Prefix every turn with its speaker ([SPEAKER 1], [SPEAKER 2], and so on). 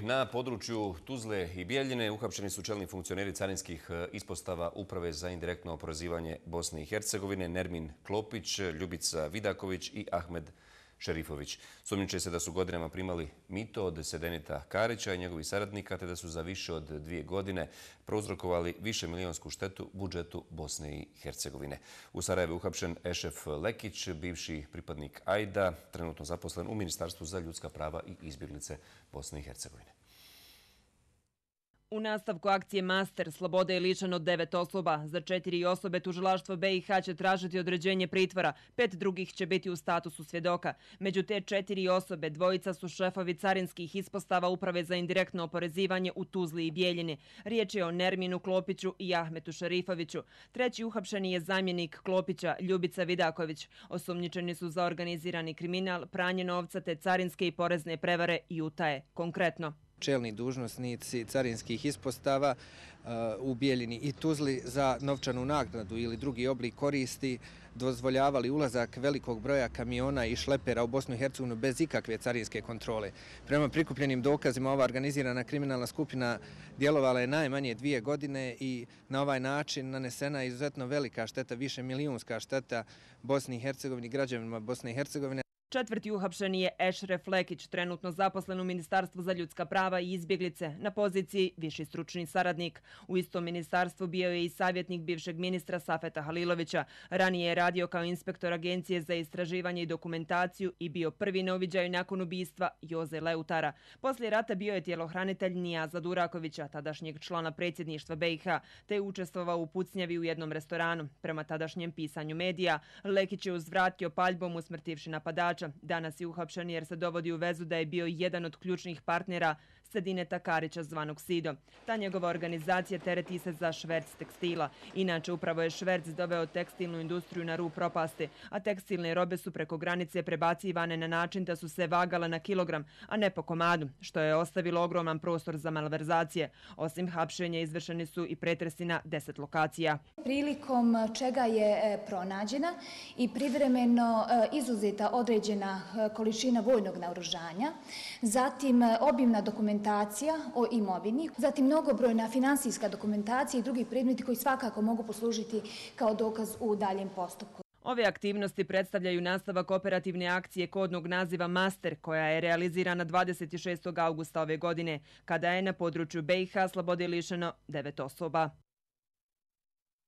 [SPEAKER 1] Na području Tuzle i Bijeljine uhapšeni su čelni funkcioneri carinskih ispostava Uprave za indirektno oporezivanje Bosne i Hercegovine Nermin Klopić, Ljubica Vidaković i Ahmed Šerifović. Sumnjiči se da su godinama primali mito od Sedenita Karića i njegovih saradnika, te da su za više od 2 godine prouzrokovali višemilionsku štetu budžetu Bosne i Hercegovine. U Sarajevu je uhapšen Ešef Lekić, bivši pripadnik AIDA, trenutno zaposlen u Ministarstvu za ljudska prava i izbjeglice Bosne i Hercegovine.
[SPEAKER 2] U nastavku akcije Master sloboda je lišena od 9 osoba. Za 4 osobe tužilaštvo BiH će tražiti određenje pritvora, 5 drugih će biti u statusu svjedoka. Među te 4 osobe 2 su šefovi carinskih ispostava Uprave za indirektno oporezivanje u Tuzli i Bijeljini. Riječ je o Nerminu Klopiću i Ahmetu Šerifoviću. Treći uhapšeni je zamjenik Klopića, Ljubica Vidaković. Osumnjičeni su za organizirani kriminal, pranje novca te carinske i porezne prevare i utaje. Konkretno,
[SPEAKER 3] čelni dužnosnici carinskih ispostava u Bijeljini i Tuzli za novčanu naknadu ili drugi oblik koristi dozvoljavali ulazak velikog broja kamiona i šlepera u Bosnu i Hercegovinu bez ikakve carinske kontrole. Prema prikupljenim dokazima ova organizirana kriminalna skupina djelovala je najmanje 2 godine i na ovaj način nanesena je izuzetno velika šteta, višemilijunska šteta Bosni i Hercegovini, građanima Bosne i Hercegovine.
[SPEAKER 2] Četvrti uhapšeni je Ešref Lekić, trenutno zaposlen u Ministarstvu za ljudska prava i izbjeglice, na poziciji viši stručni saradnik. U istom ministarstvu bio je i savjetnik bivšeg ministra Safeta Halilovića. Ranije je radio kao inspektor Agencije za istraživanje i dokumentaciju i bio prvi na uviđaju nakon ubistva Joze Leutara. Poslije rata bio je tjelohranitelj Nijaza Durakovića, tadašnjeg člana predsjedništva BiH, te je učestvovao u pucnjavi u jednom restoranu. Prema tadašnjem pisanju medija, Lekić je uzvratio paljbom usmrtivši napadača. Danas je uhapšen jer se dovodi u vezu da je bio jedan od ključnih partnera Sedineta Karića zvanog Sido. Ta njegova organizacija tereti se za šverc tekstila. Inače, upravo je šverc doveo tekstilnu industriju na rub propasti, a tekstilne robe su preko granice prebacivane na način da su se vagale na kilogram, a ne po komadu, što je ostavilo ogroman prostor za malverzacije. Osim hapšenja, izvršeni su i pretresi na 10 lokacija.
[SPEAKER 4] Prilikom čega je pronađena i privremeno izuzeta određena količina vojnog naoružanja, zatim obimna dokumentacija o imovini, zatim mnogobrojna finansijska dokumentacija i drugi predmeti koji svakako mogu poslužiti kao dokaz u daljem postupku.
[SPEAKER 2] Ove aktivnosti predstavljaju nastavak operativne akcije kodnog naziva Master, koja je realizirana 26. augusta ove godine, kada je na području BiH slobode lišeno 9 osoba.